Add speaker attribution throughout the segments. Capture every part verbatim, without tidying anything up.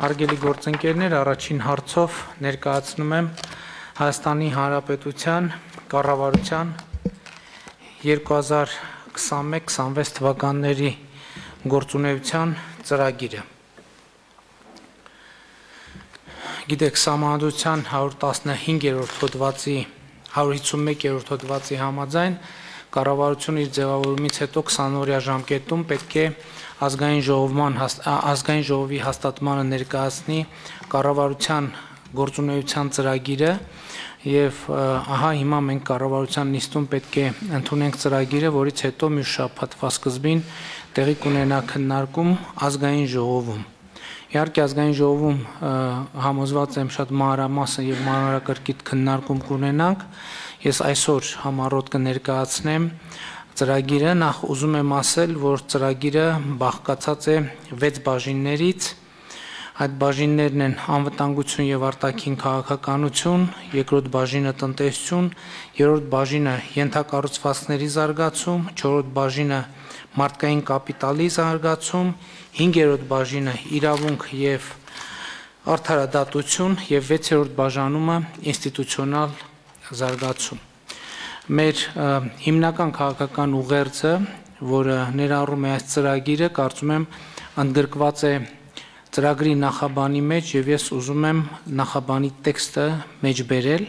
Speaker 1: Արգելի գործընկերներ, առաջին հարցով ներկայացնում եմ Հայաստանի Հանրապետության կառավարության երկու հազար քսանմեկ քսանվեց թվականների գործունեության ծրագիրը։ Գիտեք, Սահմանադրության հարյուր տասնհինգերորդ հոդվածի հարյուր հիսունմեկերորդ հոդվածի համաձայն կառավարությունը իր ձևավորումից հետո քսանօրյա ժամկետում պետք է ազգային ժողովման ազգային ժողովի հաստատմանը ներկայացնի կառավարության գործունեության ծրագիրը եւ ահա հիմա մենք կառավարության նիստում պետք է ընդունենք ծրագիրը, որից հետո մի շաբաթվա սկզբին տեղի կունենա քննարկում ազգային ժողովում։ Իհարկե ազգային ժողովում համոզված եմ շատ մանրամասն եւ մանրակրկիտ քննարկում կունենանք։ Ես այսօր համառոտ կներկայացնեմ ծրագիրը, նախ ուզում եմ ասել, որ ծրագիրը բաղկացած է վեց բաժիններից, այդ բաժիններն են անվտանգություն եւ արտաքին քաղաքականություն, երկրորդ բաժինը տնտեսություն, երրորդ բաժինը ենթակառուցվածքների զարգացում, չորրորդ բաժինը մարդկային կապիտալի զարգացում, հինգերորդ բաժինը իրավունք եւ արդարադատություն եւ վեցերորդ բաժանումը ինստիտուցիոնալ զարգացում։ Մեր հիմնական քաղաքական ուղերձը, որը ներառում է այս ծրագիրը, կարծում եմ ընդգրկված է ծրագրի նախաբանի մեջ եւ ես ուզում եմ նախաբանի տեքստը մեջ բերել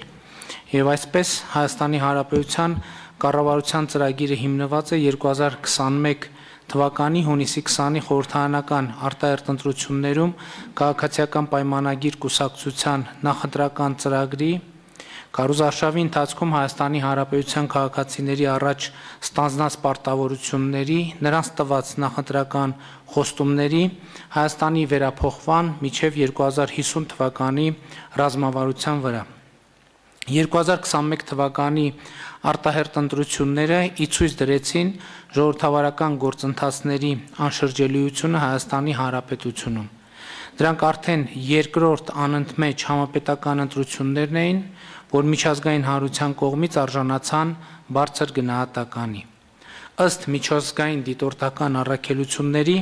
Speaker 1: եւ այսպես Հայաստանի Հանրապետության կառավարության ծրագիրը հիմնված է երկու հազար քսանմեկ թվականի հունիսի քսանի խորհրդարանական արտահերթ ընտրություններում քաղաքացիական պայմանագիր կուսակցության նախընտրական ծրագրի Կառուցարշավի ընթացքում Հայաստանի Հանրապետության քաղաքացիների առաջ ստանձնած պարտավորությունների, նրանց տված նախընտրական խոստումների Հայաստանի վերափոխման մինչև երկու հազար հիսուն թվականի ռազմավարության վրա։ երկու հազար քսանմեկ թվականի արտահերթ ընտրությունները ի ցույց դրեցին ժողովրդավարական գործընթացների անշրջելիությունը Հայաստանի Հանրապետությունում։ Դրանք արդեն երկրորդ անընդմեջ համապետական ընտրություններն էին, որ միջազգային հանրության կողմից արժանացան բարձր գնահատականի։ Ըստ միջազգային դիտորդական առաքելությունների,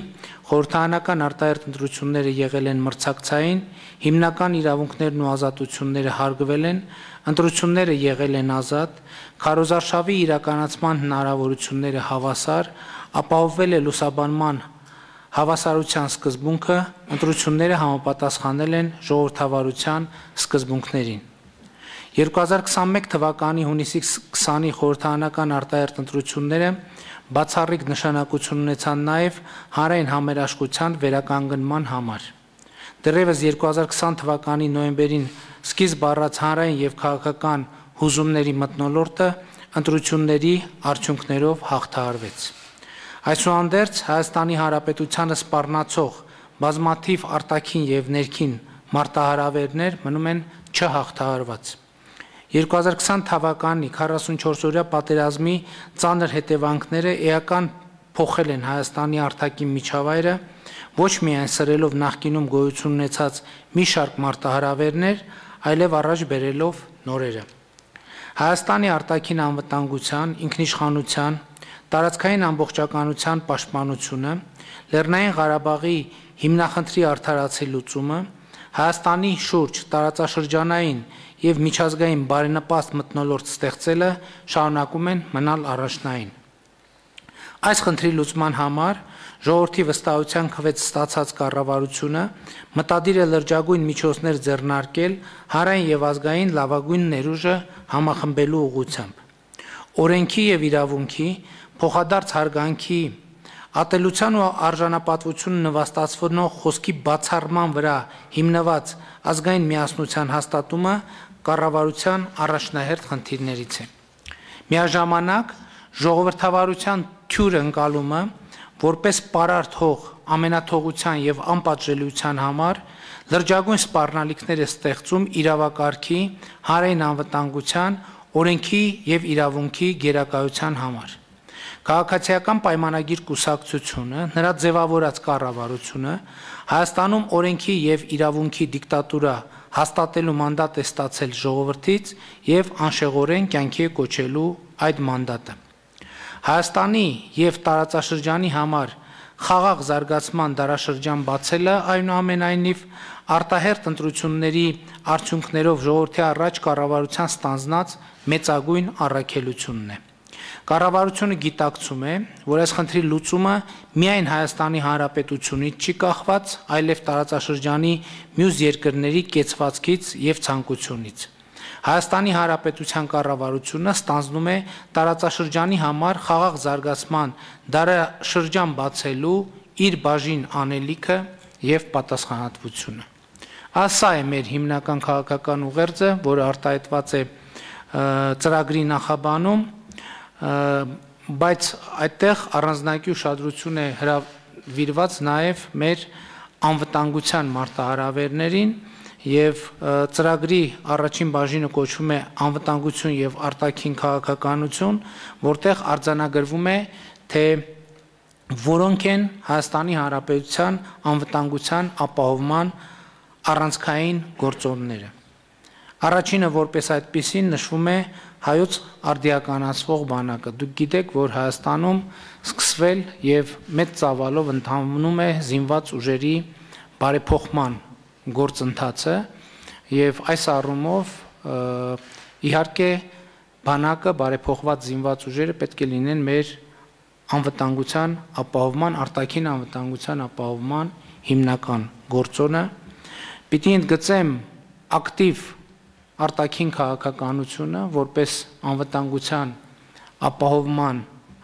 Speaker 1: խորհրդարանական արտահերթ ընտրությունները եղել են մրցակցային, հիմնական իրավունքներն ու ազատությունները հարգվել են, ընտրությունները եղել են ազատ, քարոզարշավի իրականացման հնարավորությունները հավասար, ապահովվել է լուսաբանման հավասարության սկզբունքը, ընտրությունները համապատասխանել են ժողովրդավարության սկզբունքներին։ երկու հազար քսանմեկ թվականի հունիսի քսանի խորհրդարանական արտահերթ ընտրությունները բացառիկ նշանակություն ունեցան նաև հանրային համերաշխության վերականգնման համար։ Դեռևս երկու հազար քսան թվականի նոյեմբերին սկիզբ առած հանրային եւ քաղաքական հուզումների մթնոլորտը ընտրությունների արդյունքներով հաղթահարվեց։ Այսուհանդերձ Հայաստանի Հանրապետությանը սպառնացող բազմաթիվ արտաքին եւ ներքին մարտահրավերներ մնում են չհաղթահարված։ երկու հազար քսան թվականի քառասունչորսօրյա պատերազմի ծանր հետևանքները էական փոխել են Հայաստանի արտաքին միջավայրը, ոչ միայն սրելով նախկինում գոյություն ունեցած մի շարք մարտահրավերներ, այլև առաջ բերելով նորերը։ Հայաստանի արտաքին անվտանգության, ինքնիշխանության, տարածքային ամբողջականության պաշտպանությունը, Լեռնային Ղարաբաղի հիմնախնդրի արդարացի լուծումը, Հայաստանի շուրջ տարածաշրջանային եւ միջազգային բարենպաստ մթնոլորտ ստեղծելը շարունակում են մնալ առաջնային։ Այս խնդրի լուծման համար ժողովրդի վստահության քվեց ստացած կառավարությունը մտադիր է լրջագույն միջոցներ ձեռնարկել հանրային եւ ազգային լավագույն ներուժը համախմբելու ուղղությամբ։ Օրենքի եւ իրավունքի փոխադարձ հարգանքի ատելության ու արժանապատվություն նվաստացնող խոսքի բացառման վրա հիմնված ազգային միասնության հաստատումը կառավարության առաջնահերթ խնդիրներից է։ Միաժամանակ ժողովրդավարության թյուր ընկալումը որպես պարարտ հող ամենաթողության եւ անպատժելիության համար լրջագույն սպառնալիքներ է ստեղծում իրավակարգի, հանրային անվտանգության, օրենքի եւ իրավունքի գերակայության համար։ Քաղաքացիական պայմանագիր կուսակցությունը, նրա ձևավորած կառավարությունը Հայաստանում օրենքի եւ իրավունքի դիկտատուրա հաստատելու մանդատ է ստացել ժողովրդից եւ անշեղորեն կյանքի է կոչելու այդ մանդատը։ Հայաստանի եւ տարածաշրջանի համար խաղաղ զարգացման դարաշրջան բացելը այնուամենայնիվ արտահերթ ընտրությունների արդյունքներով ժողովրդի առաջ կառավարության ստանձնած մեծագույն առաքելությունն է։ Կառավարությունը գիտակցում է, որ այս խնդրի լուծումը միայն Հայաստանի Հանրապետությունից չի կախված, այլև տարածաշրջանի մյուս երկրների կեցվածքից և ցանկությունից։ Հայաստանի Հանրապետության կառավարությունը ստանձնում է տարածաշրջանի համար խաղաղ զարգացման դարաշրջան բացելու իր բաժին անելիքը և պատասխանատվությունը։ Սա է մեր հիմնական քաղաքական ուղերձը, որը արտահայտված է ծրագրի նախաբանում, բայց այդտեղ առանձնակի ուշադրություն է հրավիրված նաև մեր անվտանգության մարտահրավերներին և ծրագրի առաջին բաժինը կոչվում է անվտանգություն և արտաքին քաղաքականություն, որտեղ արձանագրվում է, թե որոնք են Հայաստանի Հանրապետության անվտանգության ապահովման առանցքային գործոնները։ Առաջինը որպես այդպիսին նշվում է հայոց արդիականացվող բանակը։ Դուք գիտեք, որ Հայաստանում սկսվել և մեծ ծավալով ընթանում է զինված ուժերի բարեփոխման գործընթացը և այս առումով իհարկե բանակը բարեփոխված զինված ուժերը պետք է լինեն մեր անվտանգության ապահովման, արտաքին անվտանգության ապահովման հիմնական գործոնը։ Պիտի ընդգծեմ ակտիվ արտաքին քաղաքականությունը որպես անվտանգության ապահովման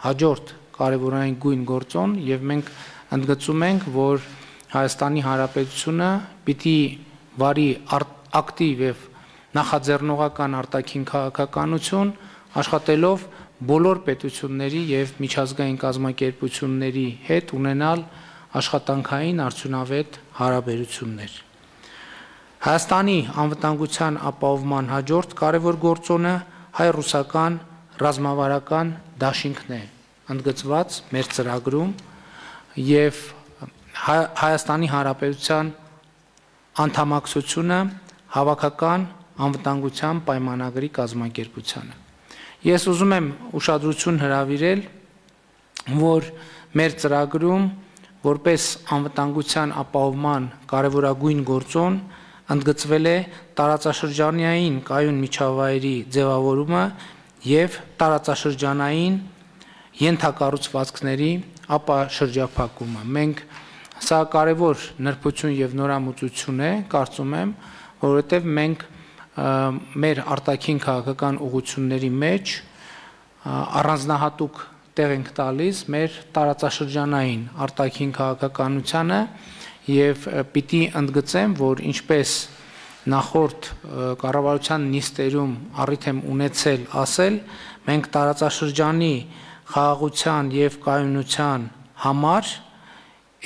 Speaker 1: հաջորդ կարևորային գույն գործոն և մենք ընդգծում ենք, որ Հայաստանի Հանրապետությունը պիտի վարի ակտիվ և նախաձեռնողական արտաքին քաղաքականություն, աշխատելով բոլոր պետությունների և միջազգային կազմակերպությունների հետ ունենալ աշխատանքային արդյունավետ հարաբերություններ։ Հայաստանի անվտանգության ապահովման հաջորդ կարևոր գործոնը հայ-ռուսական ռազմավարական դաշինքն է, ընդգծված մեր ծրագրում և Հայաստանի Հանրապետության անդամակցությունը հավաքական անվտանգության պայմանագրի կազմակերպությանը։ Ես ուզում եմ ուշադրություն հրավիրել, որ մեր ծրագրում որպես անվտանգության ապահովման կարևորագույն գործոն ընդգծվել է տարածաշրջանային կայուն միջավայրի ձևավորումը և տարածաշրջանային ենթակառուցվածքների ապաշրջափակումը։ Մենք Սա կարևոր նրբություն և նորամուծություն է, կարծում եմ, որովհետև մենք մեր արտաքին քաղաքական ուղղությունների մեջ առանձնահատուկ տեղ ենք տալիս մեր տարածաշրջանային արտաքին քաղաքականությանը և պիտի ընդգծեմ, որ ինչպես նախորդ կառավարության նիստերում առիթ եմ ունեցել ասել, մենք տարածաշրջանի խաղաղության և կայունության համար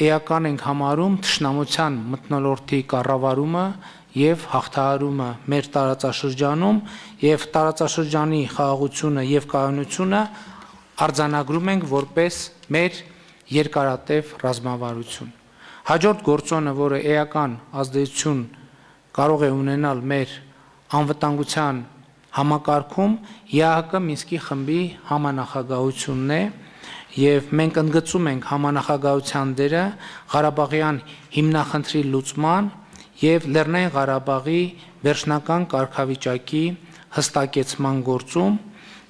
Speaker 1: էական ենք համարում թշնամության մթնոլորտի կառավարումը և հաղթահարումը մեր տարածաշրջանում և տարածաշրջանի խաղաղությունը և կայունությունը արձանագրում ենք որպես մեր երկարատև ռազմավարություն։ Հաջորդ գործոնը, որը էական ազդեցություն կարող է ունենալ մեր անվտանգության համակարգում, ԵԱՀԿ Մինսկի խմբի համանախագահությունն է և մենք ընդգծում ենք համանախագահության դերը Ղարաբաղյան հիմնախնդրի լուծման և Լեռնային Ղարաբաղի վերջնական կարգավիճակի հստակեցման գործում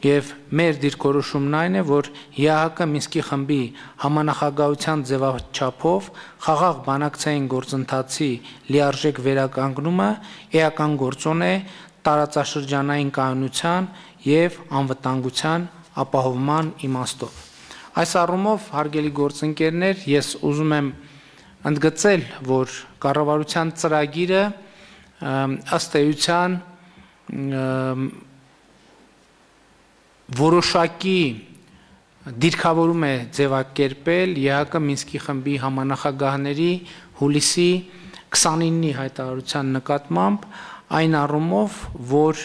Speaker 1: և մեր դիրքորոշումն այն է, որ ԵԱՀԿ Մինսկի խմբի համանախագահության ձևաչափով խաղաղ բանակցային գործընթացի լիարժեք վերականգնումը էական գործոն է տարածաշրջանային կայունության և անվտանգության ապահովման իմաստով։ Այս առումով, հարգելի գործընկերներ, ես ուզում եմ ընդգծել, որ կառավարության ծրագիրը ըստ էության որոշակի դիրքավորում է ձևակերպել ԵԱՀԿ Մինսկի խմբի համանախագահների հուլիսի քսանինի հայտարարության նկատմամբ այն առումով, որ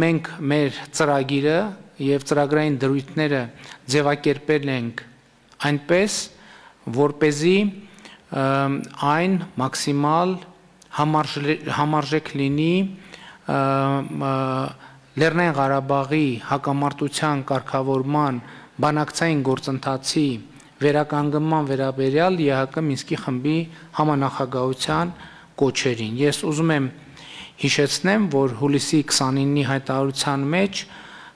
Speaker 1: մենք մեր ծրագիրը և ծրագրային դրույթները ձևակերպել ենք այնպես, որպեսզի այն մաքսիմալ համարժեք լինի Լեռնային Ղարաբաղի հակամարտության կարգավորման բանակցային գործընթացի վերականգնման վերաբերյալ ԵԱՀԿ Մինսկի խմբի համանախագահության կոչերին։ Ես ուզում եմ հիշեցնեմ, որ հուլիսի քսանինի հայտարարության մեջ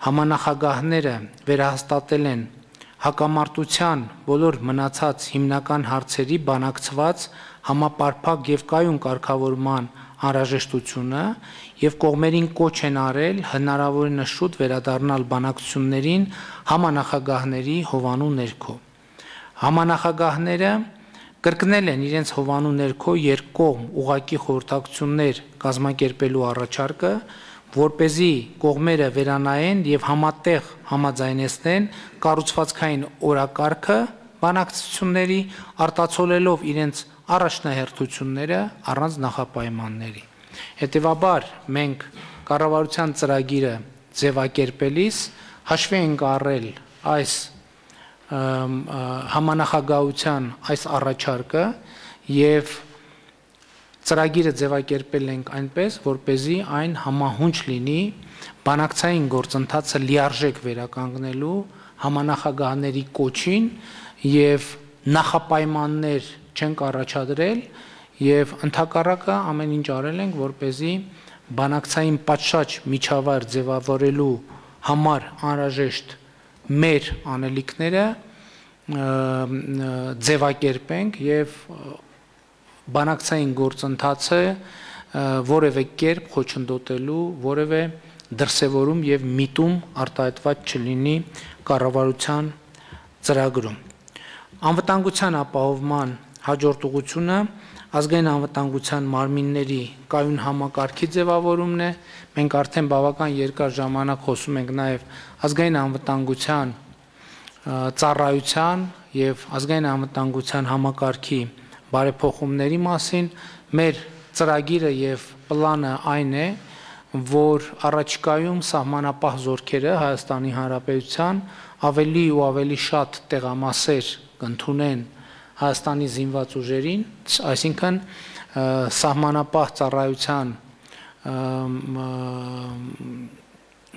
Speaker 1: համանախագահները վերահաստատել են հակամարտության բոլոր մնացած հիմնական հարցերի բանակցված համապարփակ եւ կայուն կարգավորման անհրաժեշտությունը եւ կողմերին կոչ են արել հնարավորինս շուտ վերադառնալ բանակցություններին համանախագահների հովանու ներքո։ Համանախագահները կրկնել են իրենց հովանու ներքո երկկողմ ուղղակի խորհրդակցություններ կազմակերպելու առաջարկը, որպեսզի կողմերը վերանայեն եւ համատեղ համաձայնեցնեն կառուցվածքային օրակարգը բանակցությունների, արտացոլելով իրենց առաջնահերթությունները առանց նախապայմանների։ Հետևաբար մենք կառավարության ծրագիրը ձևակերպելիս հաշվի ենք առել այս համանախագահության այս առաջարկը եւ ծրագիրը ձևակերպել ենք այնպես, որպեսզի այն համահունչ լինի բանակցային գործընթացը լիարժեք վերականգնելու համանախագահների կոչին եւ նախապայմաններ չենք առաջադրել եւ ընդհակառակը ամեն ինչ արել ենք, որպեսզի բանակցային պատշաճ միջավայր ձևավորելու համար անհրաժեշտ մեր անելիքները ձևակերպենք եւ բանակցային գործընթացը որևէ կերպ խոչընդոտելու որևէ դրսևորում եւ միտում արտահայտված չլինի կառավարության ծրագրում։ Անվտանգության ապահովման հաջորդ ուղղությունը ազգային անվտանգության մարմինների կայուն համակարգի ձևավորումն է։ Մենք արդեն բավական երկար ժամանակ խոսում ենք նաեւ ազգային անվտանգության ծառայության եւ ազգային անվտանգության համակարգի բարեփոխումների մասին։ Մեր ծրագիրը եւ պլանը այն է, որ առաջիկայում սահմանապահ զորքերը Հայաստանի Հանրապետության ավելի ու ավելի շատ տեղամասեր կընդունեն Հայաստանի զինված ուժերին, այսինքն սահմանապահ ծառայության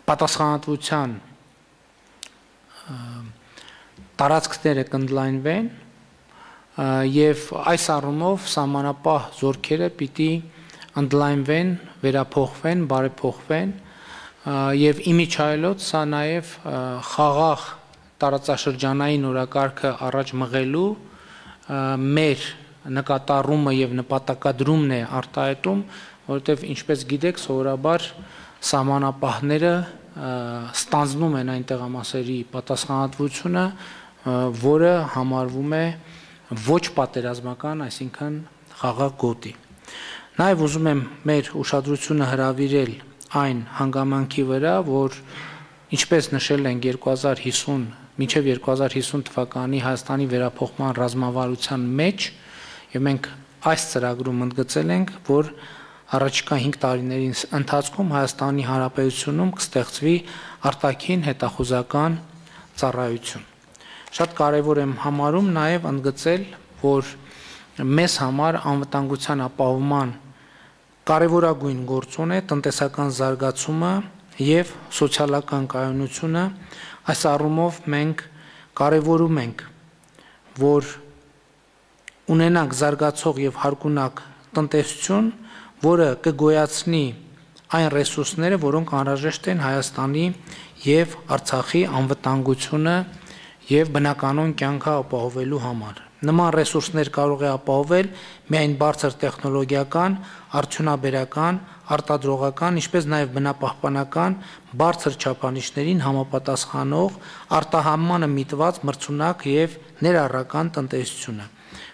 Speaker 1: պատասխանատվության տարածքները կընդլայնվեն եւ այս առումով սահմանապահ զորքերը պիտի ընդլայնվեն, վերափոխվեն, բարեփոխվեն եւ իմիջայլոց սա նաեւ խաղաղ տարածաշրջանային օրակարգը առաջ մղելու մեր նկատառումը եւ նպատակադրումն է արտահայտում, որովհետեւ ինչպես գիտեք, սովորաբար սահմանապահները ստանձնում են այն տեղամասերի պատասխանատվությունը, որը համարվում է ոչ պատերազմական, այսինքն խաղաղ գոտի։ Նաեւ ուզում եմ մեր ուշադրությունը հրավիրել այն հանգամանքի վրա, որ ինչպես նշել ենք երկու հազար հիսուն մինչև երկու հազար հիսուն թվականի Հայաստանի վերափոխման ռազմավարության մեջ եւ մենք այս ծրագրում ընդգծել ենք, որ առաջիկա հինգ տարիների ընթացքում Հայաստանի Հանրապետությունում կստեղծվի արտաքին հետախուզական ծառայություն։ Շատ կարևոր եմ համարում նաեւ ընդգծել, որ մեզ համար անվտանգության ապահովման կարևորագույն գործոն է տնտեսական զարգացումը եւ սոցիալական կայունությունը։ Այս առումով մենք կարևորում ենք, որ ունենանք զարգացող եւ հարգունակ տնտեսություն, որը կգոյացնի այն ռեսուրսները, որոնք անհրաժեշտ են Հայաստանի եւ Արցախի անվտանգությունը եւ բնականոն կյանքը ապահովելու համար։ Նման ռեսուրսներ կարող է ապահովել միայն բարձր տեխնոլոգիական, արդյունաբերական, արտադրողական, ինչպես նաև բնապահպանական բարձր չափանիշներին համապատասխանող արտահանմանը միտված մրցունակ եւ ներառական տնտեսությունը։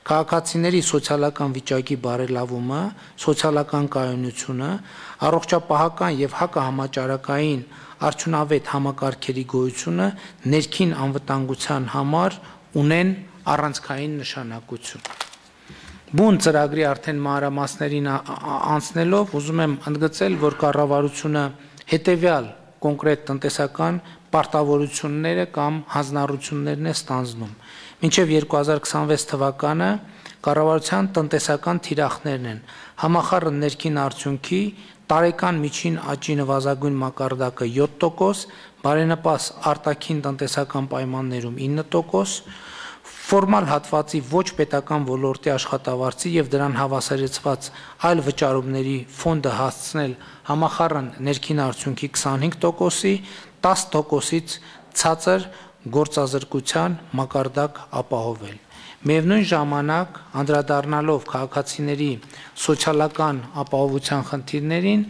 Speaker 1: Քաղաքացիների սոցիալական վիճակի բարելավումը, սոցիալական կայունությունը, առողջապահական եւ հակահամաճարակային արդյունավետ համակարգերի գոյությունը ներքին անվտանգության համար ունեն առանցքային նշանակություն։ Բուն ծրագրի արդեն մանրամասներին անցնելով ուզում եմ ընդգծել, որ կառավարությունը հետևյալ կոնկրետ տնտեսական պարտավորությունները կամ հանձնառություններն է ստանձնում։ Մինչև երկու հազար քսանվեց թվականը կառավարության տնտեսական թիրախներն են համախառն ներքին արդյունքի տարեկան միջին աճի նվազագույն մակարդակը յոթ տոկոս, բարենպաստ արտաքին տնտեսական պայմաններում ինը տոկոս, ֆորմալ հատվածի ոչ պետական ոլորտի աշխատավարձի եւ դրան հավասարեցված այլ վճարումների ֆոնդը հասցնել համախառն ներքին արդյունքի քսանհինգ տոկոսի տաս տոկոսից ցածր գործազրկության մակարդակ ապահովել։ Միևնույն ժամանակ անդրադառնալով քաղաքացիների սոցիալական ապահովության խնդիրներին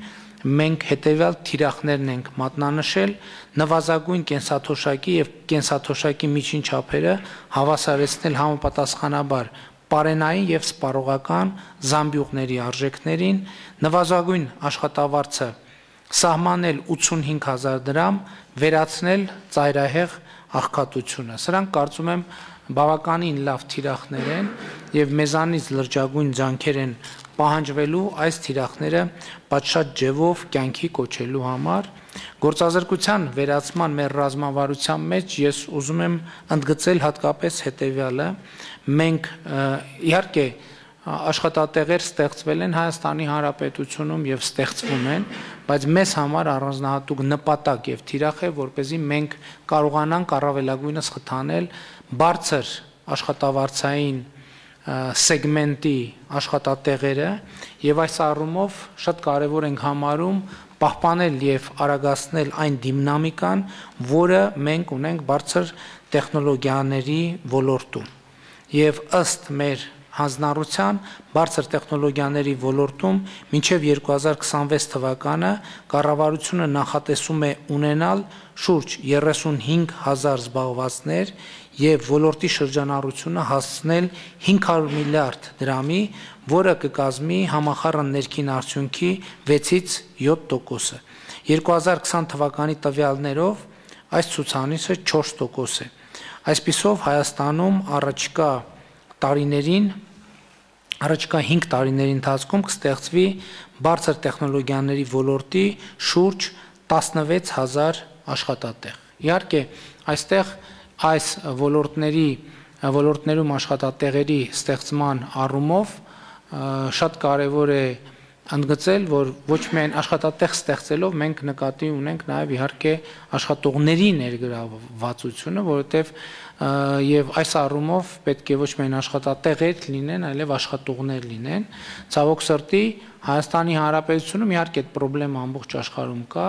Speaker 1: մենք հետևյալ թիրախներն ենք մատնանշել նվազագույն կենսաթոշակի եւ կենսաթոշակի միջին չափերը հավասարեցնել համապատասխանաբար պարենային եւ սպառողական զամբյուղների արժեքներին, նվազագույն աշխատավարձը սահմանել ութսունհինգ հազար դրամ, վերացնել ծայրահեղ աղքատությունը։ Սրանք կարծում եմ բավականին լավ թիրախներ են եւ մեզանից լրջագույն ջանքեր են պահանջվելու այս թիրախները պատշաճ ջևով կյանքի կոչելու համար։ Գործազրկության վերացման մեր ռազմավարության մեջ ես ուզում եմ ընդգծել հատկապես հետևյալը. մենք իհարկե աշխատատեղեր ստեղծվել են Հայաստանի Հանրապետությունում եւ ստեղծվում են, բայց մեզ համար առանձնահատուկ նպատակ եւ թիրախ է, որպեսզի մենք կարողանանք առավելագույնս խթանել բարձր աշխատավարձային սեգմենտի աշխատատեղերը եւ այս առումով շատ կարեւոր ենք համարում պահպանել եւ արագացնել այն դինամիկան, որը մենք ունենք բարձր տեխնոլոգիաների ոլորտում։ Եվ ըստ մեր հանձնառության բարձր տեխնոլոգիաների ոլորտում մինչև երկու հազար քսանվեց թվականը կառավարությունը նախատեսում է ունենալ շուրջ երեսունհինգ հազար զբաղվածներ եւ ոլորտի շրջանառությունը հասցնել հինգ հարյուր միլիարդ դրամի, որը կկազմի համախառն ներքին արդյունքի վեցից յոթ տոկոսը։ երկու հազար քսան թվականի տվյալներով այս ցուցանիշը չորս տոկոս է։ Այսպիսով Հայաստանում առաջիկա տարիներին Առաջիկա հինգ տարիների ընթացքում կստեղծվի բարձր տեխնոլոգիաների ոլորտի շուրջ տասնվեց հազար աշխատատեղ։ Իհարկե, այստեղ այս ոլորտների ոլորտներում աշխատատեղերի ստեղծման առումով շատ կարևոր է ընդգծել, որ ոչ միայն աշխատատեղ ստեղծելով մենք նկատի ունենք նաև իհարկե աշխատողների ներգրավվածությունը, որովհետև եւ այս առումով պետք է ոչ միայն աշխատատեղեր լինեն, այլև աշխատողներ լինեն։ Ցավոք սրտի Հայաստանի Հանրապետությունում իհարկե այդ խնդրեմ ամբողջ աշխարհում կա,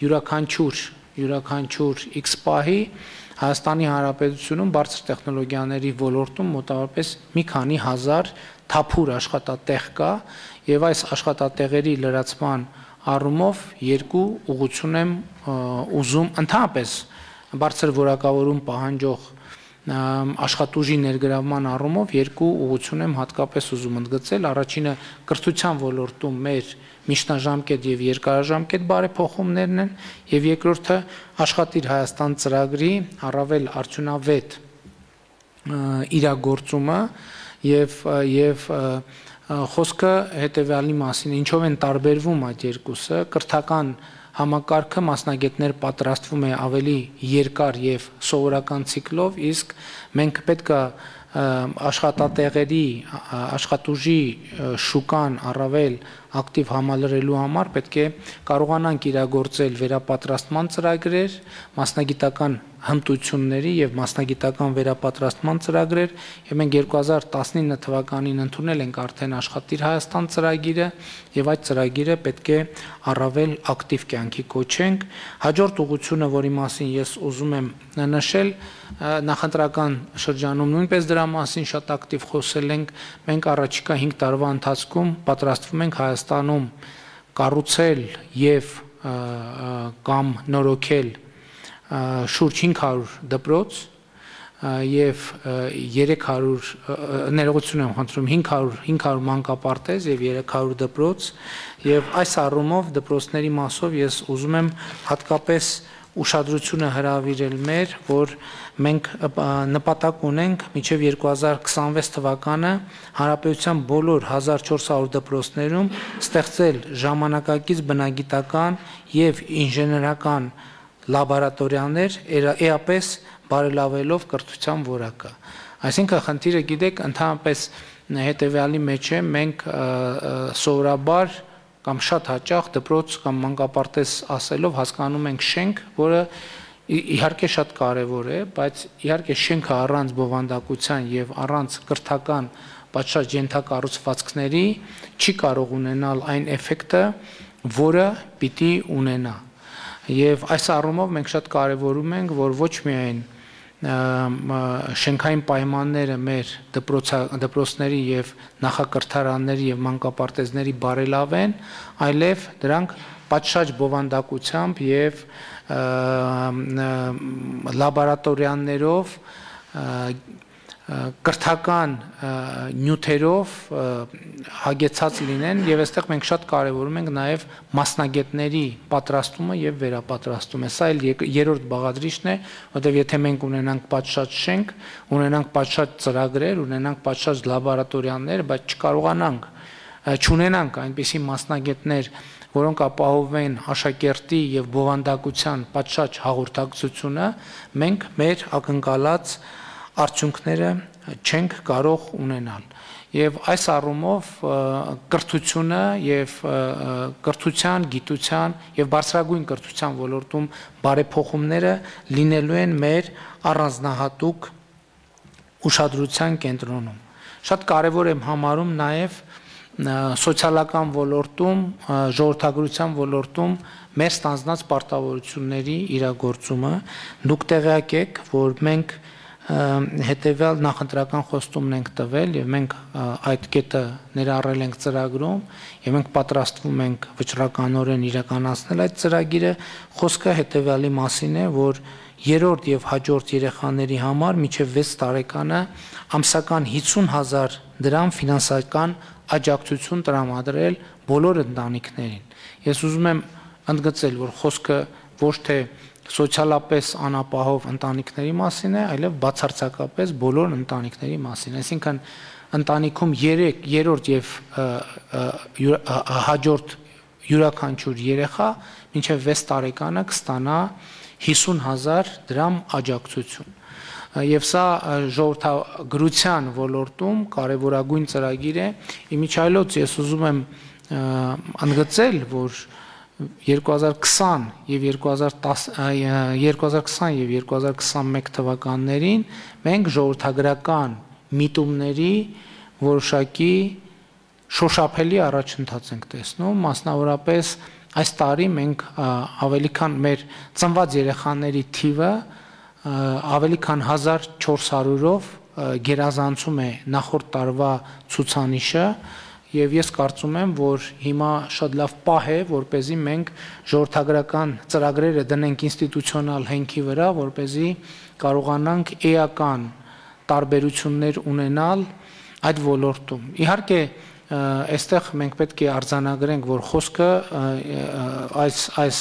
Speaker 1: յուրաքանչյուր յուրաքանչյուր X պահի Հայաստանի Հանրապետությունում բարձր տեխնոլոգիաների ոլորտում մոտավորապես մի քանի հազար թափուր աշխատատեղ կա եւ այս աշխատատեղերի լրացման առումով երկու ուղղություն եմ ուզում ընդհանրապես բարձր որակավորում պահանջող աշխատուժի ներգրավման առումով երկու ուղղություն եմ հատկապես ուզում ընդգծել։ Առաջինը կրթության ոլորտում մեր միջնաժամկետ եւ երկարաժամկետ բարեփոխումներն են եւ երկրորդը Աշխատիր Հայաստան ծրագրի առավել արդյունավետ իրագործումը եւ եւ խոսքը հետեւյալի մասին, ինչով են տարբերվում այդ երկուսը, կրթական համակարգը մասնագետներ պատրաստվում է ավելի երկար եւ սովորական ցիկլով, իսկ մենք պետք է աշխատատեղերի աշխատուժի շուկան առավել ակտիվ համալրելու համար պետք է կարողանանք իրագործել վերապատրաստման ծրագրեր, մասնագիտական հմտությունների եւ մասնագիտական վերապատրաստման ծրագրեր եւ մենք երկու հազար տասնինը թվականին ընդունել ենք արդեն Աշխատիր Հայաստան ծրագիրը եւ այդ ծրագիրը պետք է առավել ակտիվ կյանքի կոչենք։ Հաջորդ ուղղությունը, որի մասին ես ուզում եմ նշել, նախընտրական շրջանում նույնպես դրա մասին շատ ակտիվ խոսել ենք, մենք առաջիկա հինգ տարվա ընթացքում պատրաստվում ենք Հայաստանում կառուցել եւ կամ նորոգել շուրջ հինգ հարյուր դպրոց եւ երեք հարյուր ներողություն եմ խնդրում հինգ հարյուր մանկապարտեզ եւ երեք հարյուր դպրոց եւ այս առումով դպրոցների մասով ես ուզում եմ հատկապես ուշադրությունը հրավիրել մեր, որ մենք նպատակ ունենք մինչև երկու հազար քսանվեց թվականը հանրապետության բոլոր հազար չորս հարյուր դպրոցներում ստեղծել ժամանակակից բնագիտական եւ ինժեներական լաբորատորիաներ, էապես բարելավելով կրթության որակը։ Այսինքն խնդիրը գիտեք, ընդհանրապես հետեւյալի մեջ է, մենք սովորաբար կամ շատ հաճախ դպրոց կամ մանկապարտեզ ասելով հասկանում ենք շենք, որը իհարկե շատ կարևոր է, բայց իհարկե շենքը առանց բովանդակության եւ առանց կրթական պատշաճ ենթակառուցվածքների չի կարող ունենալ այն էֆեկտը, որը պիտի ունենա։ Եվ այս առումով մենք շատ կարևորում ենք, որ ոչ միայն շենքային պայմանները մեր դպրոցների եւ նախակրթարանների եւ մանկապարտեզների բարելավեն, այլև դրանք պատշաճ բովանդակությամբ եւ լաբորատորիաներով կրթական նյութերով հագեցած լինեն եւ այստեղ մենք շատ կարեւորում ենք նաեւ մասնագետների պատրաստումը եւ վերապատրաստումը։ Սա էլ երրորդ բաղադրիչն է, որտեղ եթե մենք ունենանք պատշաճ շենք, ունենանք պատշաճ ծրագրեր, ունենանք պատշաճ լաբորատորիաներ, բայց չկարողանանք չունենանք այնպիսի մասնագետներ, որոնք ապահովեն աշակերտի եւ բովանդակության պատշաճ հաղորդակցությունը, մենք մեր ակնկալած արդյունքները չենք կարող ունենալ։ Եվ այս առումով կրթությունը եւ կրթության, գիտության եւ բարձրագույն կրթության ոլորտում բարեփոխումները լինելու են մեր առանձնահատուկ ուշադրության կենտրոնում։ Շատ կարեւոր եմ համարում նաեւ սոցիալական ոլորտում, ժողովրդագրության ոլորտում մեր ստանձնած պարտավորությունների իրագործումը։ Դուք տեղյակ եք, որ մենք հետևյալ նախընտրական խոստումն ենք տվել եւ մենք այդ կետը ներառել ենք ծրագրում եւ մենք պատրաստվում ենք վճռականորեն իրականացնել այդ ծրագիրը։ Խոսքը հետևյալի մասին է, որ երրորդ եւ հաջորդ երեխաների համար մինչեւ վեց տարեկանը ամսական հիսուն հազար դրամ ֆինանսական աջակցություն տրամադրել բոլոր ընտանիքներին։ Ես ուզում եմ ընդգծել, որ խոսքը ոչ թե սոցիալապես անապահով ընտանիքների մասին է, այլև բացարձակապես բոլոր ընտանիքների մասին։ Այսինքն ընտանիքում երեք, երրորդ եւ հաջորդ յուրաքանչյուր երեխա մինչեւ վեց տարեկանը կստանա հիսուն հազար դրամ աջակցություն։ Եվ սա ժողովրդագրության ոլորտում կարևորագույն ծրագիր է։ Իմիջայլոց ես ուզում եմ ընդգծել, որ երկու հազար քսան եւ երկու հազար քսան եւ երկու հազար քսանմեկ թվականներին մենք ժողովրդագրական միտումների որոշակի շոշափելի առաջընթաց ենք տեսնում, մասնավորապես այս տարի մենք ավելի քան մեր ծնված երեխաների թիվը ավելի քան հազար չորս հարյուրով գերազանցում է նախորդ տարվա ցուցանիշը եւ ես կարծում եմ, որ հիմա շատ լավ պահ է, որպեսզի մենք ժողովրդագրական ծրագրերը դնենք ինստիտուցիոնալ հենքի վրա, որպեսզի կարողանանք էական տարբերություններ ունենալ այդ ոլորտում։ Իհարկե, այստեղ մենք պետք է արձանագրենք, որ խոսքը այս այս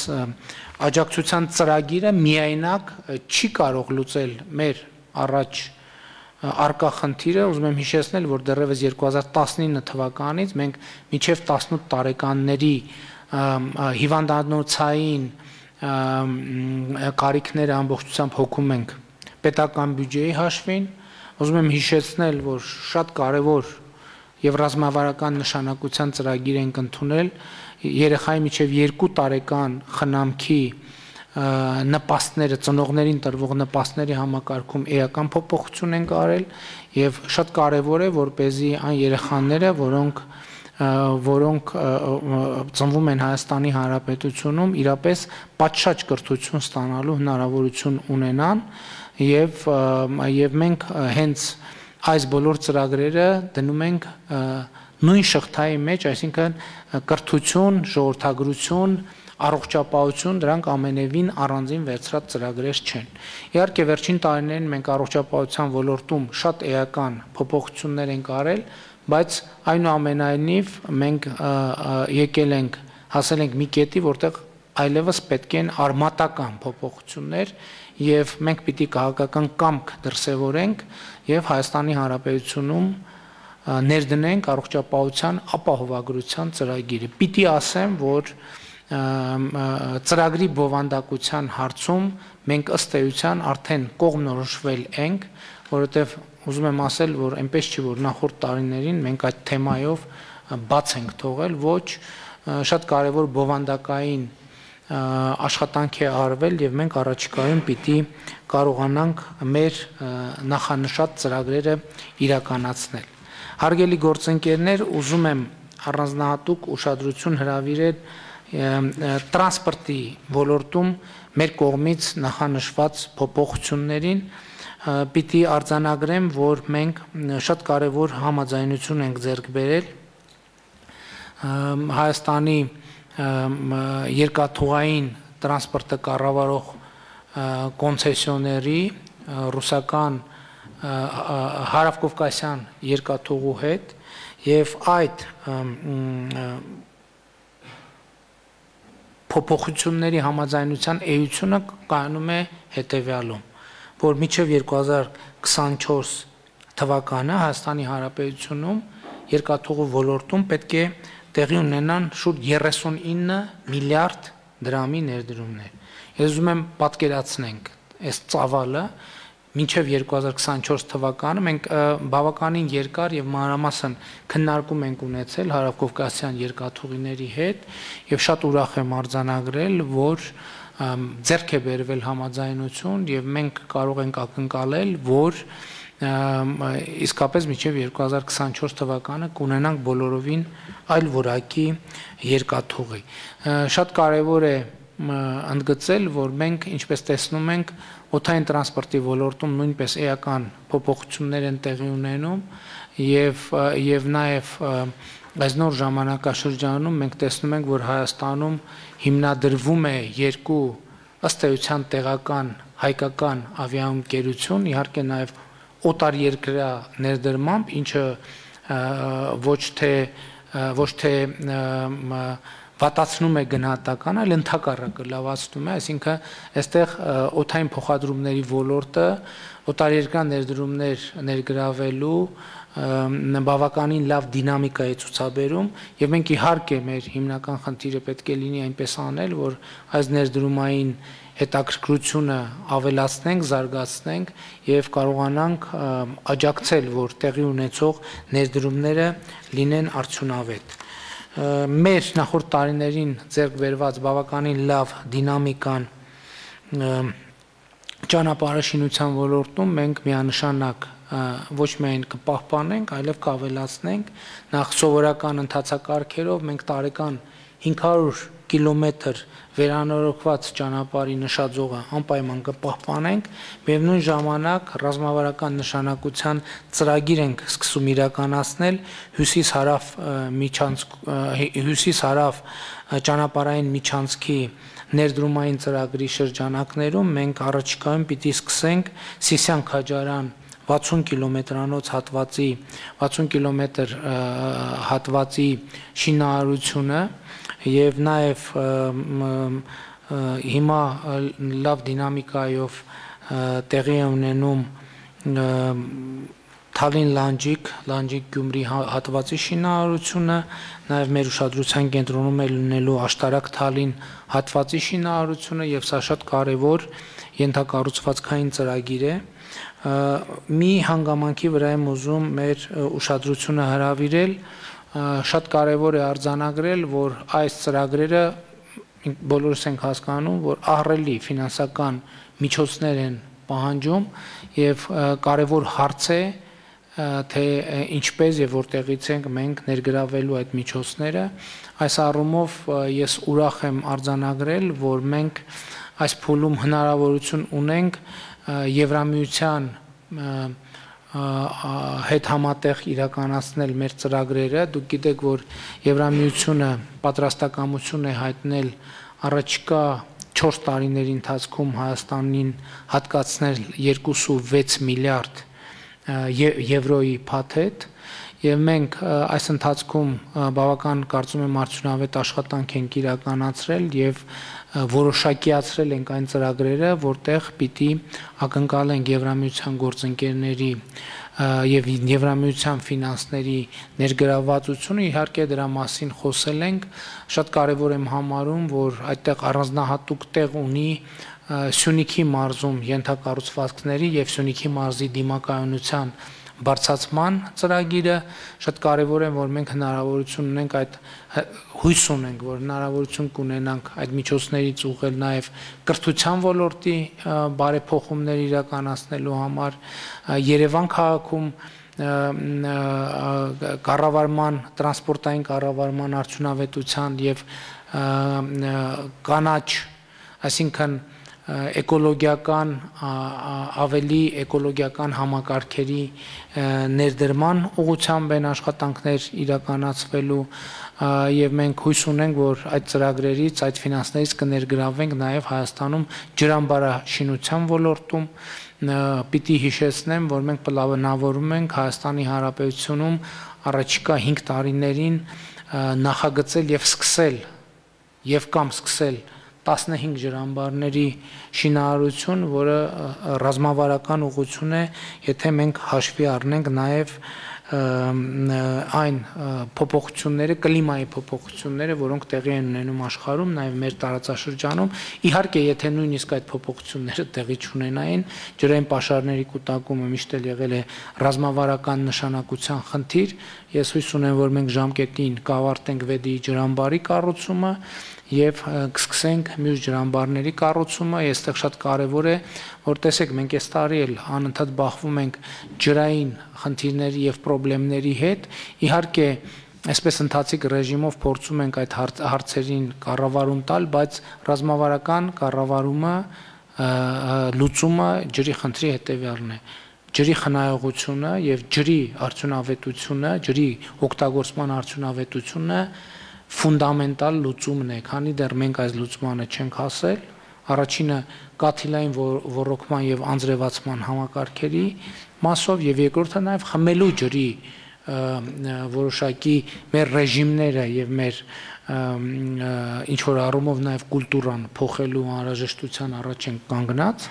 Speaker 1: աջակցության ծրագիրը միայնակ չի կարող լուծել մեր առաջ արկա խնդիրը, ուզում եմ հիշեցնել, որ դեռևս երկու հազար տասնինը թվականից մենք մինչև տասնութ տարեկանների հիվանդանոցային կարիքները ամբողջությամբ հոգում ենք պետական բյուջեի հաշվին, ուզում եմ հիշեցնել, որ շատ կարևոր եւ ռազմավարական նշանակության ծրագիր ենք ընդունել երեխայի միջև երկու տարեկան խնամքի նպաստները, ծնողներին տրվող նպաստների համակարգում էական փոփոխություն են արել եւ շատ կարեւոր է, որպեսզի այն երեխաները, որոնք որոնք ծնվում են Հայաստանի Հանրապետությունում, իրապես պատշաճ կրթություն ստանալու հնարավորություն ունենան եւ եւ մենք հենց այս բոլոր ծրագրերը դնում ենք նույն շղթայի մեջ, այսինքն կրթություն, ժողովրդագրություն, առողջապահություն, դրանք ամենևին առանձին վերցրած ծրագրեր չեն։ Իհարկե վերջին տարիներին մենք առողջապահության ոլորտում շատ էական փոփոխություններ ենք արել, բայց այնուամենայնիվ մենք եկել ենք, հասել ենք մի կետի, որտեղ այլևս պետք են արմատական փոփոխություններ եւ մենք պիտի քաղաքական կամք դրսեւորենք եւ Հայաստանի Հանրապետությունում ներդնենք առողջապահության ապահովագրության ծրագիրը։ Պիտի ասեմ, որ ծրագրի բովանդակության հարցում մենք ըստ էության արդեն կողմնորոշվել ենք, որովհետև ուզում եմ ասել, որ այնպես չի, որ նախորդ տարիներին մենք այդ թեմայով բաց ենք թողել, ոչ, շատ կարևոր բովանդակային աշխատանք է արվել եւ մենք առաջիկայում պիտի կարողանանք մեր նախանշած ծրագրերը իրականացնել։ Հարգելի գործընկերներ, ուզում եմ առանձնահատուկ ուշադրություն հրավիրել տրանսպորտի ոլորտում մեր կողմից նախանշված փոփոխություններին, պիտի արձանագրեմ, որ մենք շատ կարևոր համաձայնություն ենք ձեռք բերել Հայաստանի երկաթուղային տրանսպորտը կառավարող կոնցեսիոների ռուսական հարավկովկասյան երկաթուղու հետ եւ այդ փոփոխությունների համաձայնության էությունը կայանում է հետեւյալում, որ մինչև երկու հազար քսանչորս թվականը Հայաստանի Հանրապետությունում երկաթուղու ոլորտում պետք է տեղի ունենան շուրջ երեսունինը միլիարդ դրամի ներդրումներ։ Ես ուզում եմ պատկերացնենք այս ծավալը մինչև երկու հազար քսանչորս թվականը մենք բավականին երկար եւ մանրամասն քննարկում ենք ունեցել հարավկովկասյան երկաթուղիների հետ եւ շատ ուրախ եմ արձանագրել, որ ձեռք է բերվել համաձայնություն եւ մենք կարող ենք ակնկալել, որ իսկապես մինչև երկու հազար քսանչորս թվականը կունենանք բոլորովին այլ որակի երկաթուղի։ Շատ կարևոր է ընդգծել, որ մենք ինչպես տեսնում ենք օդային տրանսպորտի ոլորտում նույնպես էական փոփոխություններ են տեղի ունենում եւ եւ նաեւ այս նոր ժամանակաշրջանում մենք տեսնում ենք, որ Հայաստանում հիմնադրվում է երկու ըստ էության տեղական հայկական ավիաընկերություն, իհարկե նաեւ օտարերկրյա ներդրմամբ, ինչը ոչ թե ոչ թե վատացնում է գնահատականը, այլ ընդհակառակը լավացնում է, այսինքն այստեղ օդային փոխադրումների ոլորտը օտարերկրյա ներդրումներ ներգրավելու բավականին լավ դինամիկա է ցուցաբերում եւ մենք իհարկե մեր հիմնական խնդիրը պետք է լինի այնպես անել, որ այս ներդրումային հետաքրքրությունը ավելացնենք, զարգացնենք եւ կարողանանք աջակցել, որ տեղի ունեցող ներդրումները լինեն արդյունավետ։ Մեր նախորդ տարիներին ձեռք բերված բավականին լավ դինամիկան ճանապարհաշինության ոլորտում մենք միանշանակ ոչ միայն կպահպանենք, այլև կավելացնենք։ Նախ սովորական ընթացակարգերով մենք տարեկան հինգ հարյուր կիլոմետր վերանորոգված ճանապարհի նշաձողը անպայման կպահպանենք, միևնույն ժամանակ ռազմավարական նշանակության ծրագիր ենք սկսում իրականացնել հյուսիս-հարավ միջանցք հյուսիս-հարավ ճանապարհային միջանցքի ներդրումային ծրագրի շրջանակներում մենք առաջիկայում պիտի սկսենք Սիսիան-Քաջարան վաթսուն կիլոմետրանոց հատվածի վաթսուն կիլոմետր հատվածի շինարարությունը եւ նաեւ հիմա լավ դինամիկայով տեղի է ունենում Թալին Լանջիկ, Լանջիկ Գյումրի հատվածի շինարարությունը, նաեւ մեր ուշադրության կենտրոնում է լինելու Աշտարակ Թալին հատվածի շինարարությունը եւ սա շատ կարեւոր ենթակառուցվածքային ծրագիր է։ Մի հանգամանքի վրա եմ ուզում մեր ուշադրությունը հրավիրել, շատ կարևոր է արձանագրել, որ այս ծրագրերը բոլորս ենք հասկանում, որ ահռելի ֆինանսական միջոցներ են պահանջում եւ կարևոր հարց է, թե ինչպես եւ որտեղից ենք մենք ներգրավելու այդ միջոցները։ Այս առումով ես ուրախ եմ արձանագրել, որ մենք այս փուլում հնարավորություն ունենք Եվրամիության հետ համատեղ իրականացնել մեր ծրագրերը։ Դուք գիտեք, որ Եվրամիությունը պատրաստակամություն է հայտնել առաջիկա չորս տարիների ընթացքում Հայաստանին հատկացնել երկու կoma վեց միլիարդ եվրոյի փաթեթ եւ մենք այս ընթացքում բավական կարծում եմ արդյունավետ աշխատանք ենք իրականացրել եւ որոշակիացրել ենք այն ծրագրերը, որտեղ պիտի ակնկալենք Եվրամիության գործընկերների եւ Եվրամիության ֆինանսների ներգրավվածությունը, իհարկե դրա մասին խոսել ենք, շատ կարեւոր եմ համարում, որ այդտեղ առանձնահատուկ տեղ ունի Սյունիքի մարզում ենթակառուցվածքների եւ Սյունիքի մարզի դիմակայունության բարձրացման ծրագիրը շատ կարևոր է, որ մենք հնարավորություն ունենք այդ հույս ունենք, որ հնարավորություն կունենանք այդ միջոցներից ուղղել նաև կրթության ոլորտի բարեփոխումներ իրականացնելու համար, Երևան քաղաքում կառավարման, տրանսպորտային կառավարման արդյունավետության եւ կանաչ, այսինքն էկոլոգիական ավելի էկոլոգիական համակարգերի ներդրման ուղղությամբ են աշխատանքներ իրականացվելու եւ մենք հույս ունենք, որ այդ ծրագրերից, այդ ֆինանսներից կներգրավենք նաեւ Հայաստանում ջրամբարաշինության ոլորտում պիտի հիշեցնեմ, որ մենք պլանավորում ենք Հայաստանի Հանրապետությունում առաջիկա հինգ տարիներին նախագծել եւ սկսել եւ կամ սկսել տասնհինգ ջրամբարների շինարարություն, որը ռազմավարական ուղղություն է, եթե մենք հաշվի առնենք նաեւ այն փոփոխությունները, կլիմայի փոփոխությունները, որոնք տեղի են ունենում աշխարհում, նաև մեր տարածաշրջանում, իհարկե, եթե նույնիսկ այդ փոփոխությունները տեղի չունենային, ջրային պաշարների կուտակումը միշտ էլ եղել է ռազմավարական նշանակության խնդիր, ես հույս ունեմ, որ մենք ժամկետին կավարտենք Վեդի ջրամբարի կառուցումը եւ կսկսենք մյուս ջրամբարների կառուցումը, այստեղ շատ կարեւոր է, որ տեսեք, մենք այս տարի էլ անընդհատ բախվում ենք ջրային խնդիրների եւ խնդիրների հետ, իհարկե, այսպես ընթացիկ ռեժիմով փորձում ենք այդ հարցերին կառավարում տալ, բայց ռազմավարական կառավարումը, լուծումը ջրի խնդրի հետեւյալն է, ջրի խնայողությունը եւ ջրի արդյունավետությունը, ջրի օգտագործման արդյունավետությունը ֆունդամենտալ լուծումն է, քանի դեռ մենք այս լուծմանը չենք հասել, առաջինը կաթիլային ոռոգման եւ անձրևացման համակարգերի մասով եւ երկրորդը նաեւ խմելու ջրի որոշակի մեր ռեժիմները եւ մեր ինչ որ առումով նաեւ կուլտուրան փոխելու անհրաժեշտության առաջ են կանգնած,